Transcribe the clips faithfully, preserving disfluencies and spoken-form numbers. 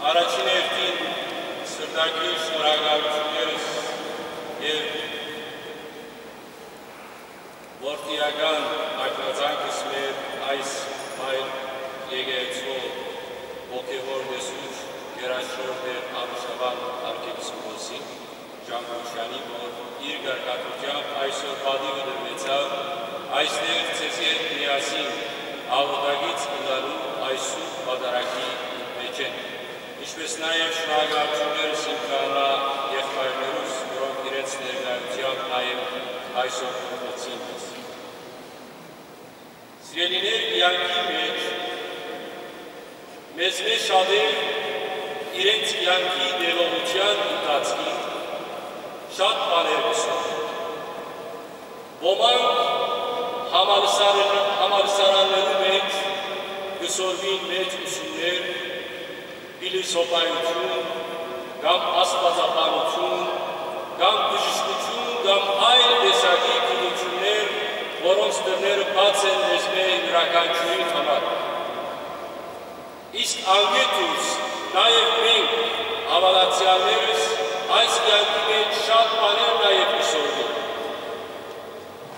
Առաջին հերթին սրտագիր շնորհակալութիւններս եւ որդիական ակնածանքս մեր այս մայր եկեղեցւոյ հոգեւոր տեսուչ գերաշնորհ Տէր Արուշավան արքեպիսկոպոսին Ժամբուշեանի, որ իր կարգադրութեամբ այսօր պատիւը տրուեցաւ այստեղ ձեզի հետ միասին աղօթակից ըլլալու այս սուրբ պատարագի մէջէն։ Ինչպէս նաեւ շնորհակալութիւններս իմ քահանայ եղբայրներուս, որոնք իրենց ներկայութեամբ նաեւ այսօր աղօթեցին մեզ։ Սիրելիներ, կեանքի մէջ մեզմէ շատեր իրենց կեանքի տեւողութեան ընթացքին շատ բաներ կը սորվեն։ Ոմանք համալսարան-, համալսարաններու մէջ կը սորվին մեծ ուսումներ, փիլիսոփայութիւն, կամ աստուածաբանութիւն, կամ բժշկութիւն, կամ այլ տեսակի գիտութիւններ, որոնց դռները բաց են մեզմէ իւրաքանչիւրին համար։ Իսկ անկէ դուրս, նաեւ մենք, հաւատացեալներս, այս կեանքի մէջ շատ բաներ նաեւ կը սորվենք։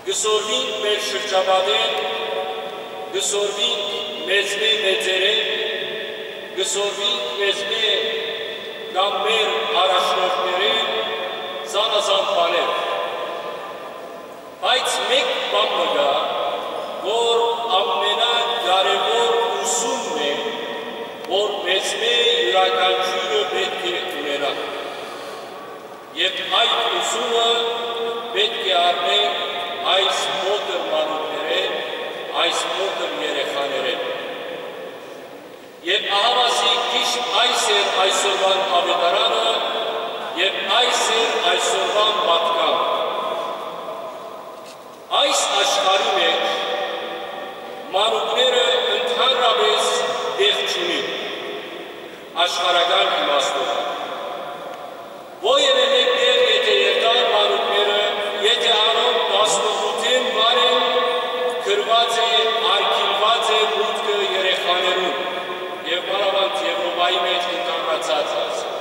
Կը սորվինք մեր շրջապատէն, կը սորվինք մեզմէ մեծերէն, կը սորվինք մեզմէ կամ մեր առաջնորդներէն զանազան բաներ։ Բայց մէկ բան մը կայ, որ ամենակարեւոր ուսումն է, որ մեզմէ իւրաքանչիւրը պէտք է ունենայ։ Եւ այդ ուսումը պէտք է առնենք այս փոքր մանուկներէն, այս փոքր երեխաներէն։ Եւ ահաւասիկ ճիշդ այս էր այսօրուան աւետարանը եւ այս էր այսօրուան պատկան։ Այս աշխարհի մէջ մանուկները ընդհանրապէս տեղ չունին, աշխարհական իմաստով։ Որեւէ մէկ տեղ եթէ երթան մանուկները, եթէ անոնք տասնութ մար են, գրուած է, արգիլուած է մուտքը երեխաներուն, եւ մանաւանդ Եւրոպայի մէջ ընդհանրացած է ասենք։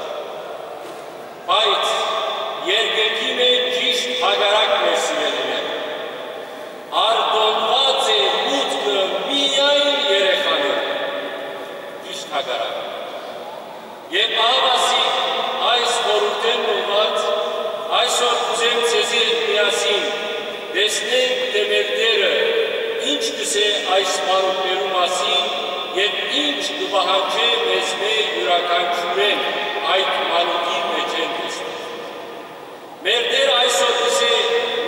Բայց երկնքի մէջ ճիշդ հակառակն է, սիրելիներ։ Արտոնուած է մուտքը միայն երեխաներուն։ Ճիշդ հակառակը։ Եւ ահաւասիկ այս խորհուրդէն մղուած, այսօր կ'ուզեմ ձեզի հետ միասին տեսնենք, թէ մեր Տէրը ինչ կ'ըսէ այս մանուկներու մասին եւ ինչ կը պահանջէ մեզմէ իւրաքանչիւրէն այդ մանուկին մէջէն տեսնենք։ Մեր Տէրը այսօր կ'ըսէ.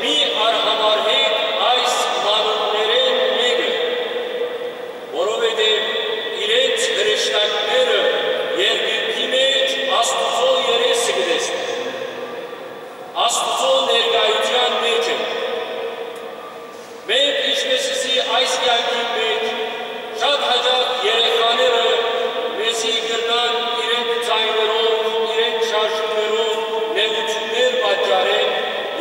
«Մի արհամարհէք այս մանուկներէն մէկը, որովհետեւ իրենց հրեշտակները երկնքի մէջ Աստուծոյ երեսը կը տեսնեն, Աստուծոյ ներկայութեան մէջ են»։ Մենք, ինչպէս ըսի, այս կեանքին մէջ շատ յաճախ երեխաները մեզի կրնան իրենց ձայներով, իրենց շարժումներով նեղութիւններ պատճառել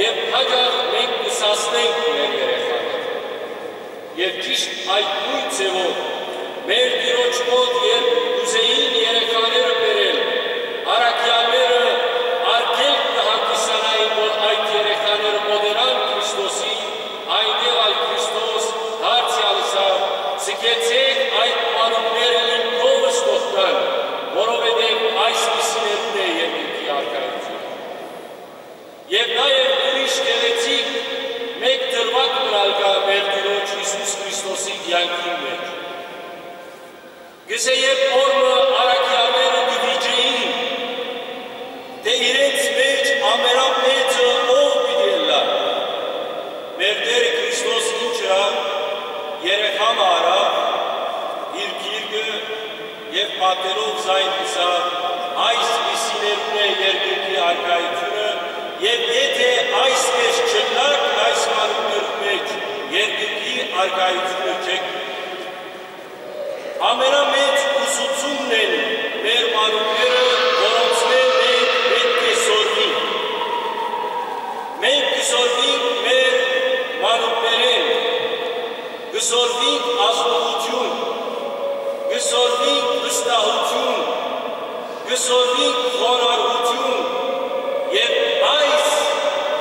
եւ յաճախ մենք կը սաստենք մեր երեխաները։ Եւ ճիշդ այդ նոյն ձեւով մեր Տիրոջ մօտ, երբ կ'ուզէին երեխաները բերել, առաքեալները արգելք կը հանդիսանային, որ այդ երեխաները մօտենան Քրիստոսին, այնտեղ ալ Քրիստոս դարձեալ ըսաւ. «Ձգեցէք այդ մանուկները իմ քովս թողնան, որովհետեւ այսպիսիներուն է երկնքի արքայութիւնը»։ Եւ նաեւ ուրիշ գեղեցիկ մէկ դրուագ մըն ալ կայ մեր Տիրոջ Յիսուս Քրիստոսի կեանքին մէջ։ Կ'ըսէ, երբ օր մը առաքեալները կը վիճէին, թէ իրենց մէջ ամենամեծը ո՞վ պիտի ըլլայ, մեր Տէրը Քրիստոս ինչ ըրաւ, երեխայ մը առաւ իր գիրկը եւ պատերով զայն ըսաւ. «Այսպիսիներուն է երկնքի արքայութիւնը, եւ եթէ այսպէս չըլլաք այս մանուկներուն մէջ, երկնքի արքայութիւնը չէք»։ Ամենամեծ ուսուցումն են մեր մանուկները, որոնցմէ մենք պէտք է սորվինք։ Մենք կը սորվինք մեր մանուկներէն, կը սորվինք ազնուութիւն, կը սորվինք վստահութիւն, Կը սորվինք խոնարհութիւն, եւ այս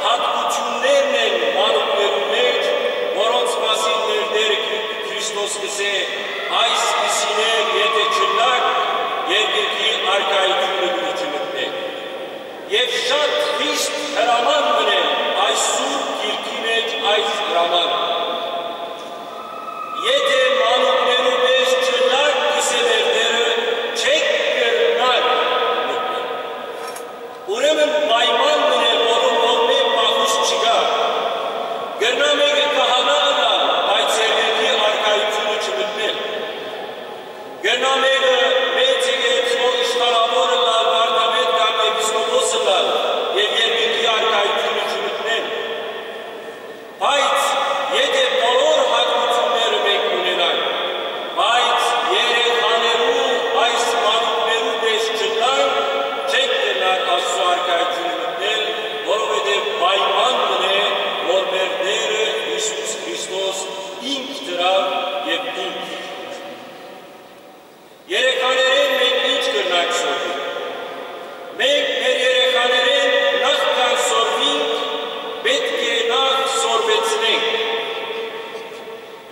յատկութիւններն են մանուկներուն մէջ, որոնց մասին մեր Տէրը Քրի-, Քրիստոս կ'ըսէ. «Այսպիսիներ եթէ չըլլաք, երկնքի արքայութիւնը պիտի չմտնէք»։ Եւ շատ խիստ հրաման մըն է այս Սուրբ Գիրքի մէջ այս հրաման։ «Եթէ մանուկներու պէս չըլլաք, կ'ըսէ մեր Տէրը, չեք կրնար մտնել»։ Ուրեմն պայման մըն է, որուն որ մէկ փախուստ չկայ։ Կրնայ մէկը քահանայ ըլլալ, բայց երկնքի արքայութիւնը չմտնել։ Կրնայ մէկը մեծ եկեղեցւոյ իշխանաւոր ըլլալ, վարդապետ կամ եպիսկոպոս ըլլալ եւ երկնքի արքայութիւնը չմտնել։ Բայց եթէ բոլոր յատկութիւնները մենք ունենանք, բայց երեխաներու այս մանուկներու պէս չըլլանք, չենք կրնար Աստուծոյ արքայութիւնը մտնել, որովհետեւ պայման մըն է, որ մեր Տէրը Յիսուս Քրիստոս ինք դրաւ եւ ինք։ Երեխաներէն մենք ի՞նչ կրնանք սորվել։ Մենք մեր երեխաներէն նախքան սորվինք, պէտք է նախ սորվեցնենք։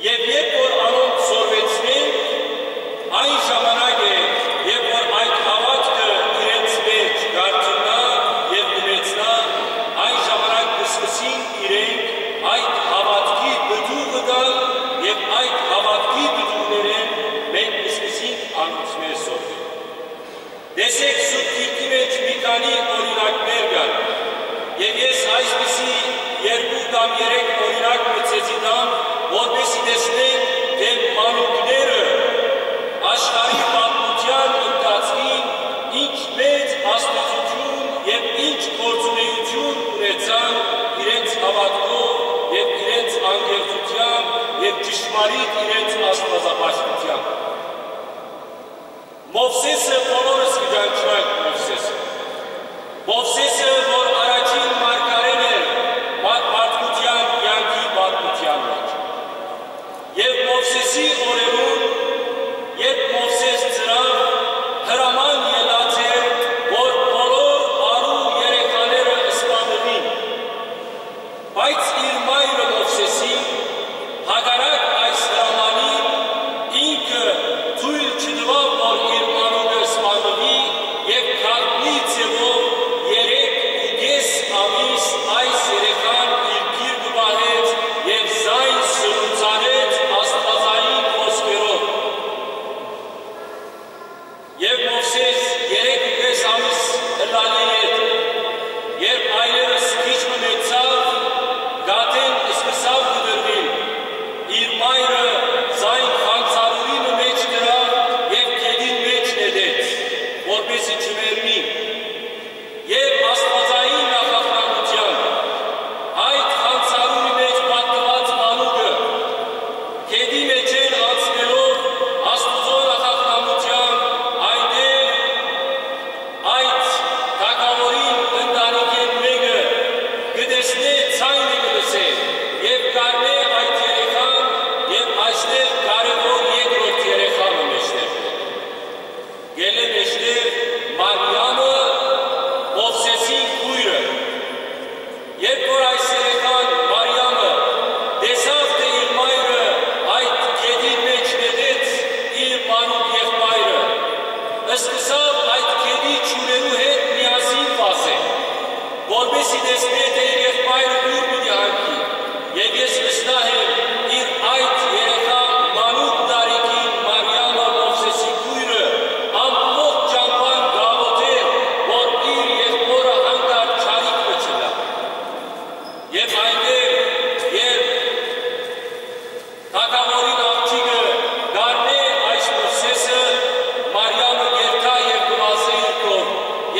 Եւ երբ որ անոնք սորվեցնենք, այն ժամանակ է, երբ որ այդ հաւատքը իրենց մէջ կ'արթննայ եւ կ'մեծնայ, այն ժամանակ կ'սկսին իրենք այդ հաւատքի պտուղը տալ եւ այդ հաւատքի պտուղներէն մենք կ'սկսինք անոնցմէ սորվել։ Տեսէք, Սուրբ Գիրքի մէջ մի քանի օրինակներ կան, եւ ես այսպիսի երկու կամ երեք օրինակ մը ձեզի տամ, որպեսզի տեսնենք, թէ մանուկները աշխարհի պատմութեան ընթացքին ինչ մեծ ազդեցութիւն եւ ինչ գործունէութիւն ունեցան իրենց հաւատքով եւ իրենց անկեղծութեամբ եւ ճշմարիտ իրենց աստուածապաշտութեամբ։ Մովսէսը, բոլորս կը ճանչնանք Մովսէսը։ Մովսէսը, որ առաջին մարգարէն էր մա-, մարդկութեան կեանքի պատմութեան մէջ։ Եւ Մովսէսի օրերուն, երբ Մովսէս ծնաւ, հրաման ելած էր, որ բոլոր արու երեխաները սպանուին։ Բայց իր մայրը Մովսէսին, հակառակ այս հրամանին, ինքը թոյլ չտուաւ, որ իր մանուկը սպանուի, եւ գաղտնի ձեւով երեք ու կէս ամիս այս երեխան իր գիրկը պահեց եւ զայն սրուցանեց աստուածային խօսքերով։ Եւ Մովսէս երեք ու կէս ամիս ըլլալէ յետ, երբ այլեւս քիչ մը մեծցաւ, կաթէն սկսաւ կտրուիլ, իր մայրը զայն խանցարուրի մը մէջ դրաւ եւ գետին մէջ նետեց, որպէսզի չմեռնի։ Եւ աստուածային նախախնամութեան այդ խանցարուրի մէջ պատկուած մանուկը, գետի մէջէն անցնելով Աստուծոյ նախախնամութեան, այնտեղ այդ թագաւորին ընտանիքէն մէկը կը տեսնէ, ձայնը կը լսէ եւ կ'առնէ այդ երեխան եւ այստեղ կարեւոր երկրորդ երեխան մը մէջտեղ կ'ելլէ մէջտեղ Մարիամը, Մովսէսին քոյրը։ Երբ որ այս երեխան Մարիամը տեսաւ, թէ իր մայրը այդ գետին մէջ նետեց իր մանուկ եղբայրը, սկսաւ այդ գետի ջուրերու հետ միասին վազել, որպէսզի տեսնէ, թէ իր եղբայրը ո՞ւր պիտի հանգի։ Եւ ես վստահ եմ, իր այդ երեխայ մանուկ տարիքին Մարիամը, Մովսէսի քոյրը, ամբողջ ճամբան կ'աղօթէր, որ իր եղբօրը հանկարծ չարիք մը չըլլայ։ Եւ այնտեղ, երբ թագաւորին աղջիկը կ'առնէ այս Մովսէսը, Մարիամը կ'երթայ եւ կը վազէ իր քով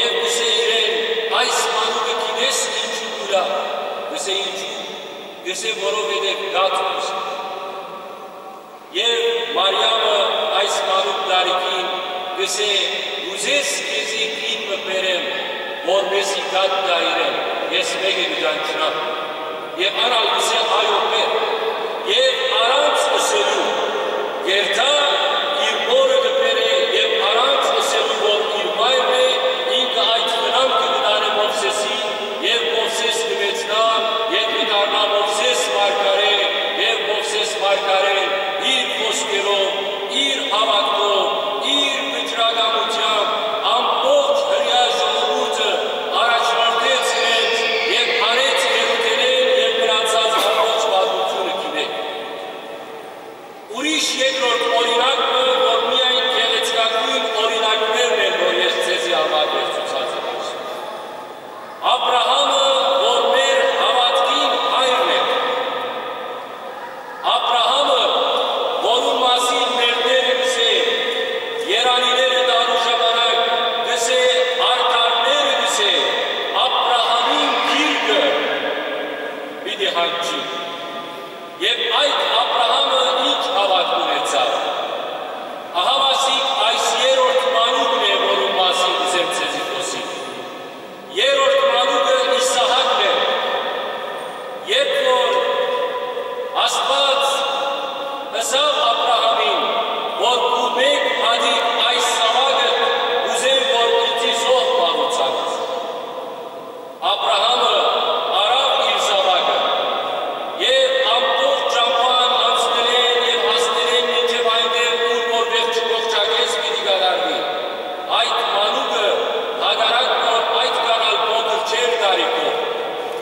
եւ կ'ըսէ իրեն. «Այս մանուկը գիտես ինչու կ'ըլլայ»։ Կ'ըսէ. «Ինչու»։ Կ'ըսէ. «Որովհետեւ կաթ կ'ուզի»։ Եւ Մարիամը այս մանուկ տարիքին կ'ըսէ. «Կ'ուզես քեզի կին մը բերեմ, որ մեզի կաթ տայ իրեն, ես մէկը կը ճանչնամ»։ Եւ ան ալ կ'ըսէ. «Այո, բեր»։ Եւ առանց ըսելու, կ'երթայ, իր մօրը կը բերէ, եւ առանց ըսելու, որ իր մայրն է, Իրականութեամբ ամբողջ հրեայ ժողովուրդը առաջնորդեց իրենց եւ հանեց Երութենէն եւ մնացած ամբողջ պատմութիւնը գիտէք։ Ուրիշ երկրորդ օրինակ մը, որ միայն գեղեցկագոյն օրինակներն են, որ ես ձեզի համար վերցուցած եմ այսօր։ Աբրահամը, որ մեր հաւատքին հայրն է։ Աբրահամը, որուն մասին մեր Տէրը կ'ըսէ, երանիները տալու ժամանակ կ'ըսէ, արդարները կ'ըսէ, Աբրահամին գիրկը պիտի հանգչի։ Եւ այդ Աբրահամը ինչ հաւատք ունեցաւ։ Ահա ասիկ այս երրորդ մանուկն է, որուն մասին կ'ուզեմ ձեզի խօսիլ։ Երրորդ մանուկը Իսահակն է։ Երբ որ Աստուած ըսաւ Աբրահամին, որ քու մէկ հատիկ այս զաւակը կ'ուզեմ, որ ինծի զոհ մատուցանաս։ Աբրահամը առաւ իր զաւակը եւ ամբողջ ճամբան անցնելէն եւ հասնելէն մինչեւ այնտեղ, ուր որ վերջի ողջակէս պիտի կատարուի։ Այդ մանուկը, հակառակ որ այդքան ալ փոքր չէր տարիքով,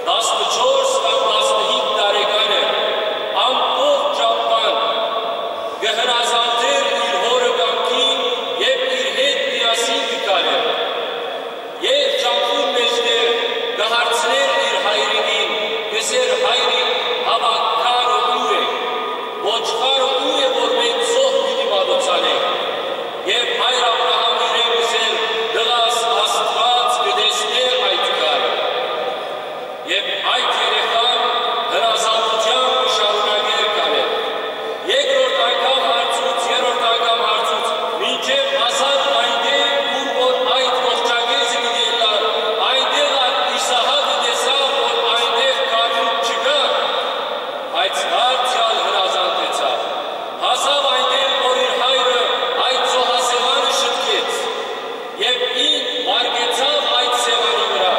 տասնչորս կամ տասնհինգ տարեկան էր, ամբողջ ճամբան կը հնազանդէր իր հօրը կամքին եւ իր հետ միասին կը քալէր։ Եւ ճամբուն մէջտեղ կը հարցնէր իր հայրիկին, կ'ըսէր. «Հայրիկ, հաւա քարը ո՞ւր է, ոչխարը ո՞ւր է, որ մենք զոհ պիտի մատուցանենք»։ Եւ հայր Աբրահամը իրեն կ'ըսէր. «Տղաս, Աստուած կը տեսնէ այդ քարը»։ Եւ այդ երեխան հնազանդութեամբ կը շարունակէր քալել։ Երկրորդ անգամ հարցուց, երրորդ անգամ հարցուց, մինչեւ հասան այնտեղ, ուր որ այդ ողջակէզը պիտի ըլլար, այնտեղ ալ Իսահակը տեսաւ, որ այնտեղ քարմուտ չկայ, բայց դարձեալ հնազանդեցաւ։ Հասաւ այնտեղ, որ իր հայրը այդ զոհասեղանը շտկեց։ Եւ ինք վարկեցաւ այդ սեղանի վրայ,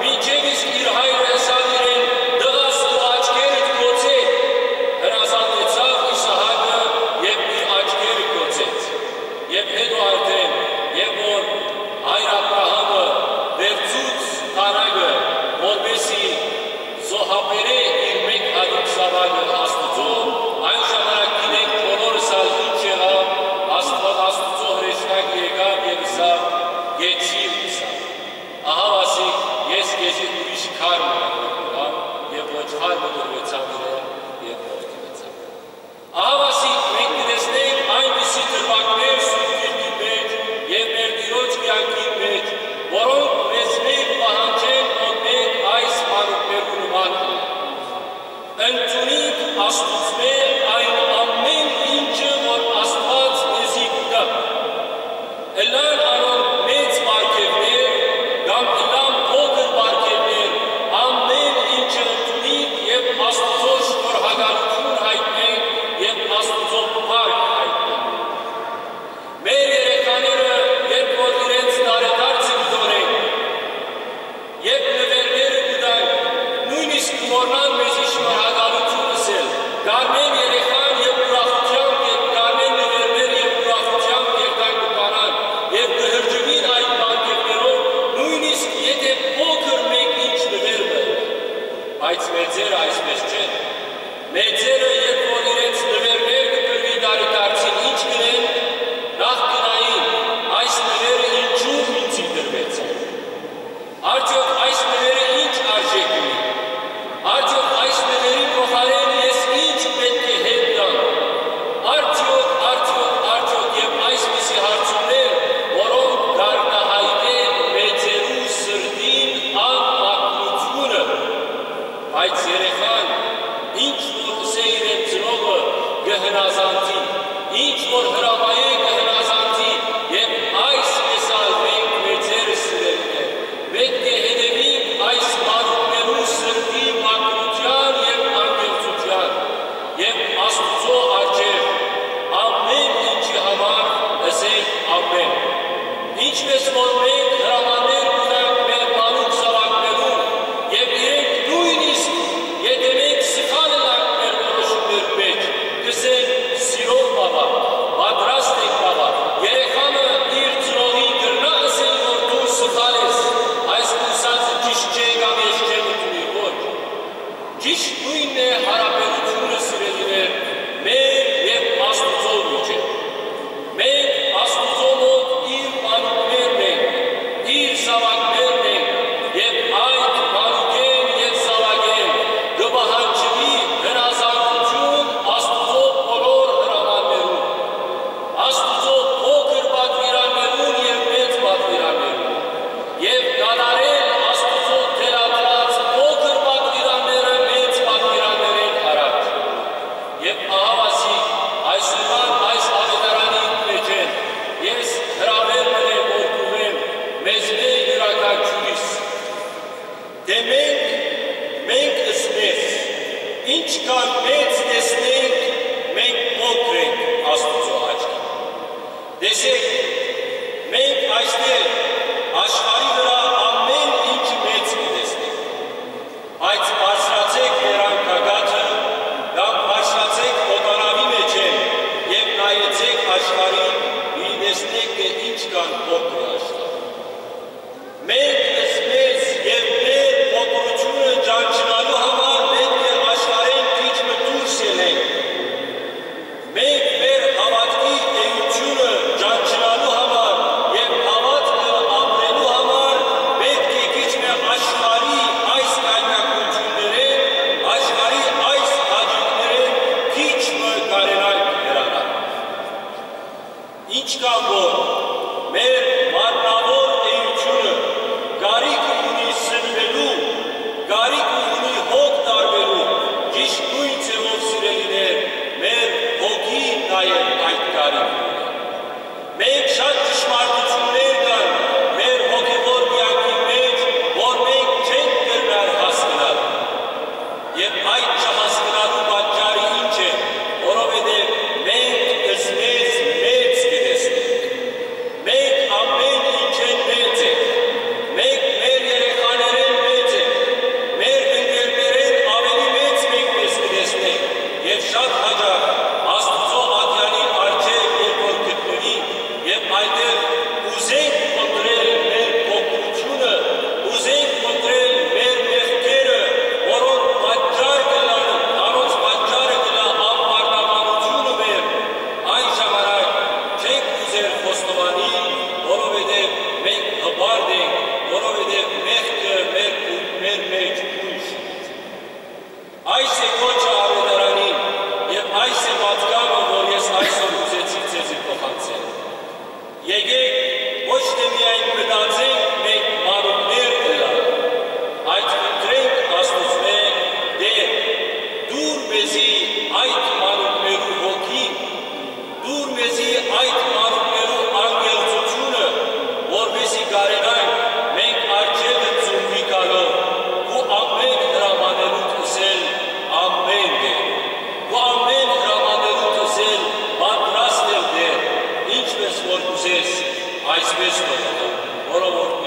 մինչեւ իսկ իր հայրը ըսաւ իրեն. «Տղաս, քու աչքերդ գոցէ»։ Հրազանդեցաւ Իսահակը եւ իր աչքերը գոցեց։ Եւ հետո արդեն, երբ որ հայր Աբրահամը վերցուց դանակը, որպեսզի զոհաբերէ իր մէկ հատիկ զաւակը Աստուծոյ, այն ժամանակ գիտենք բոլորս ալ ինչ եղաւ, Աստուած, Աստուծոյ հրեշնակը եկաւ եւ ըսաւ. «Կեցիր», ըսաւ. «Ահա ասիկ, ես քեզի ուրիշ քար մը կ'եմ եւ ոչխար մը տրուեցաւ իրեն եւ մորթուեցաւ»։ Ահա ասիկ մենք կը տեսնենք այնպիսի դրուագներ Սուրբ Գիրքին մէջ եւ մեր Տիրոջ կեանքին մէջ, որոնք մեզմէ կը պահանջեն, որ մենք այս մանուկներու նման լինենք։ Ընդունինք Աստուծմէ այն ամէն ինչը, որ Աստուած մեզի կու տայ։ Ըլլան անոնք մեծ պարգեւներ կամ ըլլան փոքր պարգեւներ, ամէն ինչը ընդունինք եւ Աստուծոյ շնորհակալութիւն յայտնենք եւ Աստուծոյ փառք յայտնենք։ Մեր երեխաները, երբ որ իրենց տարեդարձը կը տոնեն, երբ նուէրները կու տան, նոյնիսկ կը մոռնան մեզի շնորհակալութիւն ըսել։ Կ'առնեն երեխան եւ ուրախութեամբ, եւ կ'առնեն նուէրները եւ ուրախութեամբ գերտան կը բանան, եւ կը հրճուին այդ պարգեւներով, նոյնիսկ եթէ փոքր մէկ ինչ նուէր մը։ Բայց մեծերը այսպես չեն։ Մեծերը, երբ որ իրենց նուէրներ կը տրուի տարեդարձին, ինչ կ'ընեն, նախ կ'ըսեն. «Այս նուէրը ինչու ինծի տրուեցաւ»։ Արդեօք այս նուէրը ի՞նչ արժէք ունի։ Արդեօք այս նուէրի փոխարէն ես ի՞նչ պէտք է հետ տամ։ Արդեօք, արդեօք, արդեօք եւ այսպիսի հարցումներ, որոնք կ'արտայայտեն մեծերու սրտին անմաքրութիւնը։ Բայց երեխան, ինչ որ ըսէ իրեն ծնողը, կը հնազանդի, ինչ որ հրամայէ, կը հնազանդի, եւ այսպէս ալ մենք, մեծերս, սիրելիներ, պէտք է հետեւինք այս մանուկներու սրտի մաքրութեան եւ անկեղծութեան, եւ Աստուծոյ առջեւ ամէն ինչի համար ըսենք. «Ամէն»։ Ինչպէս որ մենք հրամաններ կու տանք մեր մանուկ զաւակներուն, եւ իրենք նոյնիսկ եթէ մենք սխալ ըլլանք մեր որոշումներու մէջ, կ'ըսեն. «Սիրով, բաբա, պատրաստ ենք, բաբա»։ Երեխան մը իր ինչքան մեծ տեսնենք, մենք փոքր ենք Աստուծոյ աչքին։ Տեսեք, մենք այստեղ աշխարհի վրայ ամէն ինչ մեծ կը տեսնենք, բայց բարձրացէք ձեր անկագաթը կամ բարձրացէք օտանաւի մէջէն եւ նայեցէք աշխարհին, պիտի տեսնէք թէ ինչքան փոքր է աշխարհը։ Մենք մեզ եւ մեր փոքրութիւնը ճանչնալու համար պէտք է աշխարհէն քիչ մը դուրս ելենք։ Մենք մեր հաւատքի էութիւնը ճանչնալու համար եւ հաւատքը ապրելու համար պէտք է քիչ մը աշխարհի այս կայնակութիւններէն, աշխարհի այս հաճոյքներէն քիչ մը կարենանք հեռանալ։ Ինչքան որ մեր մարմնաւոր էութիւնը կարիք ունի սնուելու, կարիք ունի հոգ տարուելու, ճիշդ նոյն ձեւով, սիրելիներ, մեր հոգին նաեւ այդ կարիքը ունի։ Մենք շատ ճշմարտութիւններ կան մեր հոգեւոր կեանքի մէջ, որ մենք չենք կրնար հասկնալ։ Եւ այդ չհասկնալու պատճառը ի՞նչ է, որովհետեւ մենք զմեզ մեծ կը տեսնենք։ Մենք ամէն ինչէն մեծ ենք։ Մենք մեր երեխաներէն մեծ ենք։ Մեր ընկերներէն աւելի մեծ մենք մեզ կը տեսնենք։ Եւ շատ յաճախ Աստուծոյ ատեանին առջեւ երբ որ գտնուի, եւ այնտեղ ուզենք փնտռել մեր փոքրութիւնը, ուզենք փնտռել մեր մեղքերը, որոնք պատճառ կ'ըլլան, անոնց պատճառը կ'ըլլայ անպարտականութիւնը մեր, այն ժամանակ չենք ուզեր խոստովանիլ, որովհետեւ մենք հպարտ ենք, որովհետեւ մեղքը մեր, մեր մէջ բոյս է։ Այս է կոչը աւետարանին եւ այս է պատգամը, որ ես այսօր ուզեցի ձեզի փոխանցել։ Եկէք ոչ թէ միայն մտածենք մենք մանուկներ ըլլալ, այլ խնդրենք Աստուծմէ. «Տէր, տուր մեզի այդ մանուկներու հոգին, տուր մեզի այդ մանուկներու անկեղծութիւնը, որպէսզի կարենանք մենք առջեւը ծունկի գալով քու ամէն հրամաներուդ ըսել ամէն դեր, քու ամէն հրամաներուդ ըսել պատրաստ եմ դեր, ինչպէս որ կ'ուզես, այսպէս թող ըլլայ, որովհետեւ